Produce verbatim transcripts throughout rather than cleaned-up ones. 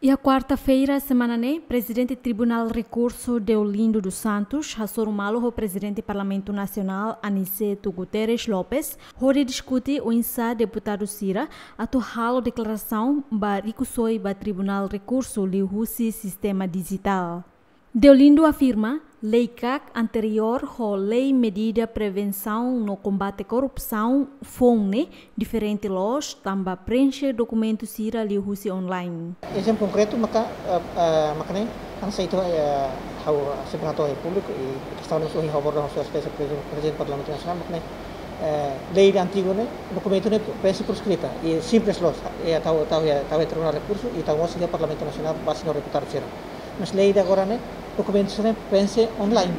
Iha kuarta-feira semana ne'e, Prezidente Tribunál Rekursu Deolindo dos Santos hasoru malu ho Prezidente Parlamentu Nasionál Aniceto Guterres Lopes, hodi diskute oinsá deputadu sira atu halo deklarasaun ba rikusoin ba Tribunál Rekursu liuhusi sistema dijitál. Deolindo afirma, lei kak anteriór ho lei medida prevensaun no kombate korrupsaun foun ne'e diferente loos tanba prenxe dokumentu sira liuhusi online. Ezemplu konkretu maka, eh, eh, maka ne'e, hanesan ita, eh, ha'u sempre hato'o iha públiku, i kestaun ne'e ohin ha'u aborda ho Sua Exelénsia Prezidente, Prezidente Parlamentu Nasionál, maka ne'e, eh, lei ida antigu ne'e, dokumentu ne'e prenxe por escrita, i simples loos, i tau, tau, tau iha Tribunál Rekursu, i tau mós iha Parlamentu Nasionál, baze no deputadu sira. Mas lei ida agora ne'e, dokumentu sira prenxe online.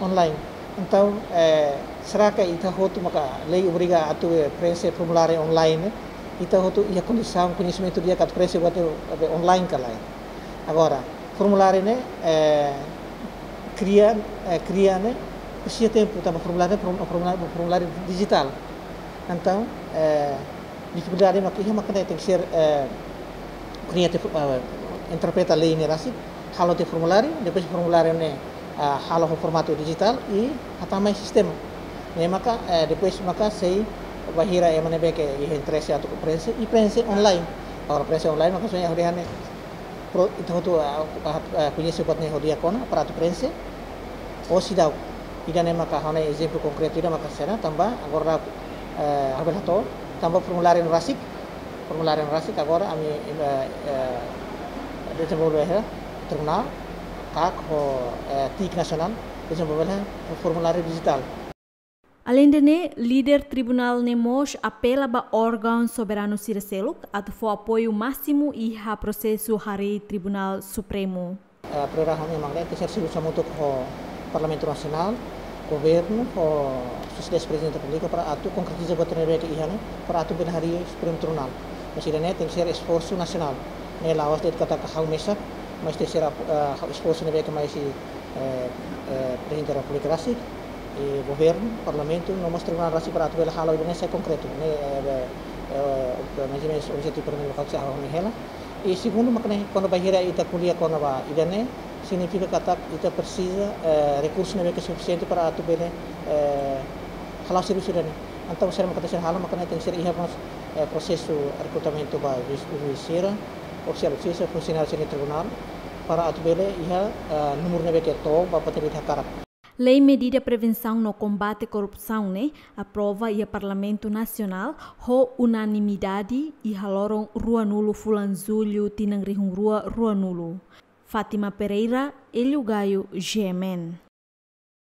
Online. Entaun, eh, será que ita hotu maka lei obriga atu, eh, prenxe formuláriu online ne'e? Ita hotu iha kondisaun, koñesimentu di'ak atu prenxe buat ne'e, eh, online ka lae? Agora, formuláriu ne'e, eh, kria, eh, kria ne'e, presiza tempu, tanba formuláriu ne'e, form-, formuláriu, formuláriu dijitál. Entaun, eh, difikuldade maka iha maka ne'e tenke ser, eh, kria tiha, eh, interpreta lei ne'e rasik, halo tiha formuláriu, depois formuláriu ne'e, ah, halo ho formatu dijitál i hatama iha sistema. Ne'e maka, eh, depois maka sei bainhira ema ne'ebé ke iha interese atu prenxe, i prenxe online. Agora prenxe online maka soalnya hodi hane pro, ita hotu, ah, ah, ah, koñese buat ne'e ho di'ak ona para atu prenxe, ou seidauk. Ida-ne'e maka ha'u-nia ezemplu konkretu ida maka sena tanba agora, eh, ha'u bele hato'o tanba formuláriu ne'e rasik, formuláriu ne'e rasik agora ami, eh, eh, dezenvolve iha Tribunál, kak ho, eh, TIC Nasionál, dezenvolve iha formuláriu dijitál. Aleinde ne'e, líder tribunál ne'e mós apela ba órgaun soberanu sira seluk atu fó apoiu másimu iha prosesu harii Tribunál Supremu. Eh, prioridade ha'u-nia mak ne'e tenke ser servisu hamutuk ho Parlamentu Nasionál, Governu, ho Sua Exelénsia Prezidente Repúblika para atu konkretiza buat ne'ebé ke iha ne'e, para atu bele harii Supremu Tribunál. Mas ida-ne'e tenke ser esforsu nasionál. Ne'e la'ós de'it katak ha'u mesak, mas tenke ser ap-, eh, esforsu ne'ebé ke mai husi, eh, eh, Prezidente Repúblika rasik, i Governu, Parlamentu, no mós Tribunál rasik para atu bele halo ida-ne'e sai konkretu. Ne'e, eh, eh, eh, mais ou menus objetivu primeiru ne'ebé ke ha'u hanoin hela. I segundu, mak ne'e, kuandu bainhira ita ko'alia kona-ba ida-ne'e, signifika katak ita presiza, eh, rekursu ne'ebé ke sufisiente para atu bele, eh, hala'o servisu ida-ne'e. Entaun, saida mak tenke ser halo, mak ne'e tenke ser iha mós, eh, prosesu rekrutamentu ba juís, juís sira, ofisiál justisa, funsionáriu sira tribunál, para atu bele iha, eh, númeru ne'ebé ke to'o ba buat ne'ebé ita hakarak. Lei Medida Prevensaun no Kombate Korrupsaun ne'e aprova iha Parlamentu Nasionál ho unanimidade iha loron ruanulu fulan Jullu tinan rihun rua ruanulu. Fátima Pereira, Hélio Gaio, G M N.